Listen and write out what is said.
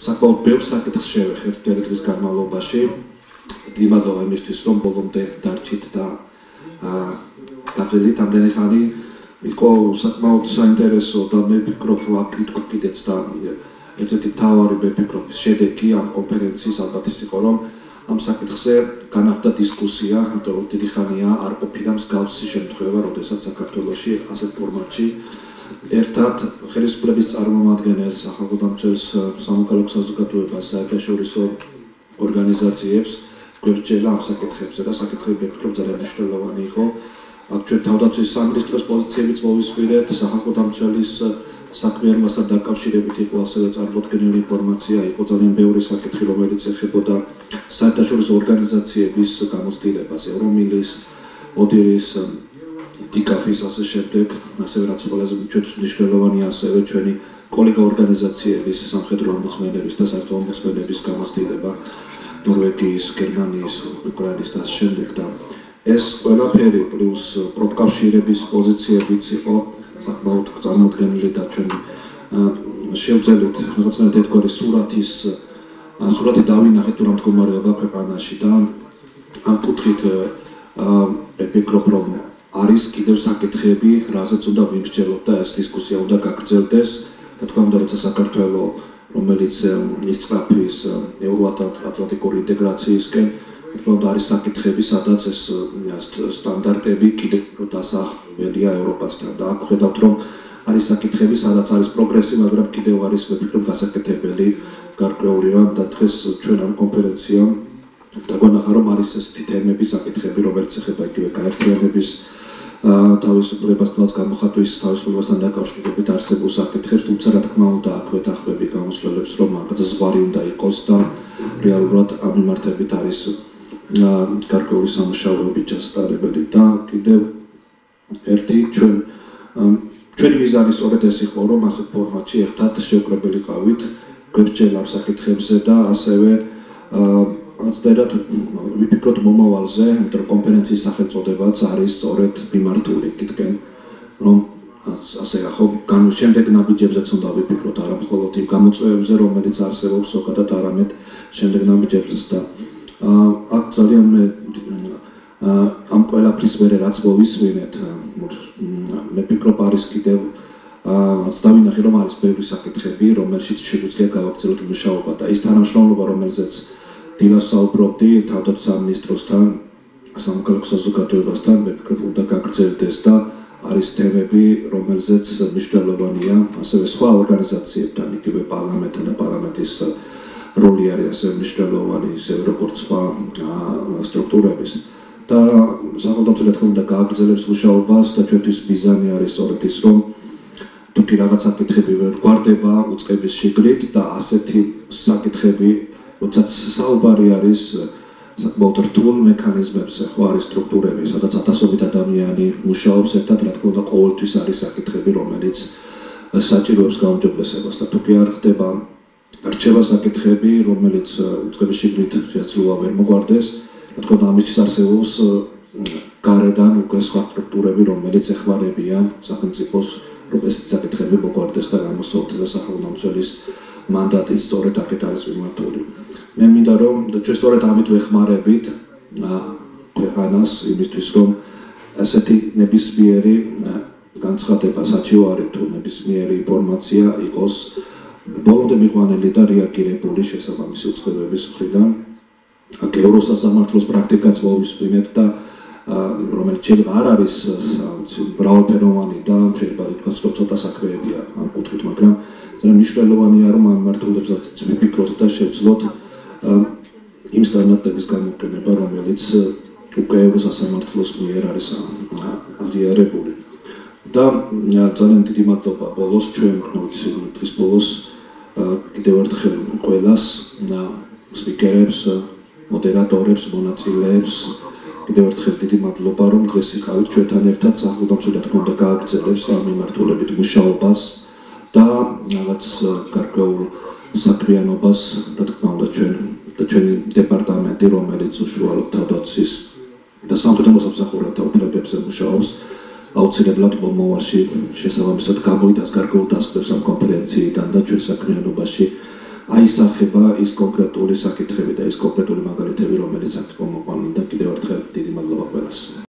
საკმაოდ ბევრ საკითხს შევეხეთ დღის განმავლობაში. იმაგავ იმისთვის რომ ბოლომდე დარჩით და გაძლიერეთ ამდენი ხანი იყო საკმაოდ საინტერესო და მე ვფიქრობ ვაკრიტიკო კიდეც და ერთ-ერთი მთავარი მე ვფიქრობ შედეგი ამ კონფერენციის ალბათ ის იყო რომ ამ საკითხზე განახდა დისკუსია, იმიტომ რომ დიდი ხანია არ ყოფილა მსგავსი შემთხვევა, როდესაც საქართველოში ასეთ ფორმატში ერთად ხელისუფლების წარმომადგენელს, სახალხო დამცველს, სამოქალაქო საზოგადოებას, საერთაშორისო ორგანიზაციებს გვერდჩელა ამ საკითხებზე და საკითხები ვფიქრობ ძალიან მნიშვნელოვანი იყო. აქ ჩვენ თავდაცვის სამინისტროს პოზიციებიც მოვისმინეთ, სახალხო დამცველის საქმიანობასთან დაკავშირებით იყო ასევე წარმოდგენილი ინფორმაცია, იყო ძალიან ბევრი საკითხი, რომელიც ეხებოდა საერთაშორისო ორგანიზაციების გამოცდილებას, ევრომილის, ოდირის, დიკაფის ასე შემდეგ, ასევე რაც ყველაზე ჩვენთვის მნიშვნელოვანია ასევე ჩვენი კოლეგა ორგანიზაციების, სამხედრო ომბუდსმენების და საერთო ომბუდსმენების გამოცდილება, ნორვეგიის, გერმანიის, უკრაინის და შემდეგ და ეს ყველაფერი პლუს პროფკავშირების პოზიციებიც იყო საკმაოდ წარმოდგენილი და ჩვენ შევძელით რაღაცნაირად ერთგვარი სურათი დავინახეთ რა მდგომარეობა ქვეყანაში და ამ კუთხით ვფიქრობ რომ არის კიდევ საკითხები, რაზეც უნდა ვიმსჯელოთ და ეს დისკუსია უნდა გაგრძელდეს. რა თქმა უნდა, როცა საქართველო რომელიც იწყაფის ევროატლანტიკური ინტეგრაციისკენ, რა თქმა უნდა, არის საკითხები, სადაც ეს სტანდარტები კიდევ დასახველია ევროპასთან და აქ ხედავთ, რომ არის საკითხები, სადაც არის პროგრესი, მაგრამ კიდევ არის ვფიქრობ გასაკეთებელი, გარკვეული რამ და დღეს ჩვენ ამ კონფერენციამ დაგვანახა, რომ არის ესეთი თემები, საკითხები, რომელიც ეხება იგივე გაერთიანების თავისუფლებასთან გამოხატვის თავისუფლებასთან დაკავშირებით არსებულ საკითხებს, თუმცა რა თქმა უნდა აქვე დახმები გამოსვლელებს, რომ რაღაცა ზღვარი უნდა იყოს და რეალურად ამ მიმართებით არის გარკვეული სამუშაოები ჩასატარებელი და კიდევ ერთი ჩვენი მიზანი სწორედ ეს იყო, რომ ასეთ ფორმატში ერთად შევკრებილიყავით გვერდჩელა ამ საკითხებზე და ასევე რაღაცნაირად ვიფიქროთ მომავალზე, იმიტომ რომ კონფერენციის სახელწოდებაც არის სწორედ მიმართული იქითკენ, რომ ასე ახო შემდეგ ნაბიჯებზეც უნდა ვიფიქროთ, არა მხოლოდ იმ გამოწვევებზე, რომელიც არსებობს ზოგადად, არამედ შემდეგ ნაბიჯებზეც და აქ ძალიან მე ამ ყველაფრის მერე რაც მოვისმინეთ, მე ვფიქრობ არის კიდევ დავინახე რომ არის ბევრი საკითხები, რომელშიც შეგვიძლია გავაგრძელოთ მუშაობა და ის თანამშრომლობა, რომელზეც დილას საუბრობდი თავდაცვის სამინისტროსთან, სამოქალაქო საზოგადოებასთან, მე ვფიქრობ უნდა გაგრძელდეს და არის თემები, რომელზეც მნიშვნელოვანია ასევე სხვა ორგანიზაციებთან, იგივე პარლამენტთან და პარლამენტის როლი არის ასევე მნიშვნელოვანი, ისევე როგორც სხვა სტრუქტურების და სახელმწიფო თქმა უნდა გააგრძელებს მუშაობას და ჩვენთვის მიზანი არის სწორედ ის, რომ თუ კი რაღაც საკითხები ვერ გვარდება უწყების შიგრით და ასეთი საკითხები როდესაც საუბარი არის საკმაოდ რთულ მექანიზმებზე, ხო არის სტრუქტურები, სადაც ათასობით ადამიანი მუშაობს ერთად, რა თქმა უნდა, ყოველთვის არის საკითხები, რომელიც საჭიროებს გაუმჯობესებას და თუ კი არ ხდება რჩება საკითხები, რომელიც უწყების შიგნით შეცვლილობა ვერ მოგვარდეს, რა თქმა უნდა, ამისთვის არსებობს გარედან უკვე სხვა სტრუქტურები, რომელიც ეხმარებიან სახელმწიფოს, რომ ეს საკითხები მოგვარდეს და გამოსცემდეს და სახელმწიფოს მანდატიც სწორედ აქეთ არის მიმართული. მე მინდა რომ ჩვენ სწორედ ამით ვეხმარებით ქვეყანას იმისთვის რომ ასეთი ნებისმიერი განცხადება საჩივარი თუ ნებისმიერი ინფორმაცია იყოს ბოლომდე მიყვანილი და რეაგირებული შესაბამისი უწყებების მხრიდან. აქ ევროსასამართლოს პრაქტიკაც მოვისმინეთ და რომელიც შეიძლება არ არის მრავალფეროვანი და შეიძლება ითქვას რომ ცოტა საქმეებია ამ კუთხით, მაგრამ ძალიან მნიშვნელოვანია რომ ამ მართულებსაც ვიფიქროთ და შევძლოთ იმ სტანდარტების გამოყენება, რომელიც უკვე ევროსასამართლოს მიერ არის აღიარებული. და ძალიან დიდი მადლობა ბოლოს ჩვენ დღის ბოლოს კიდევ ერთხელ ყველას სპიკერებს, მოდერატორებს, მონაწილეებს კიდევ ერთხელ დიდი მადლობა რომ დღეს იყავით ჩვენთან ერთად სახელმწიფო თქმა უნდა გააგრძელებს ამ მიმართულებით მუშაობას და რაღაც გარკვეულ საქმიანობას რა თქმა უნდა ჩვენი დეპარტამენტი რომელიც უშუალოდ თავდაცვის და სამხედრო სამსახურეთა უფლებებზე მუშაობს აუცილებლად მომავალში შესაბამისად გამოიტანს გარკვეულ დასკვნებს ამ კონფერენციიდან და ჩვენ საქმიანობაში აისახება ის კონკრეტული საკითხები და ის კონკრეტული მაგალითები, რომელიც აქ მოყვანილ და კიდევ ერთხელ დიდი მადლობა ყველას.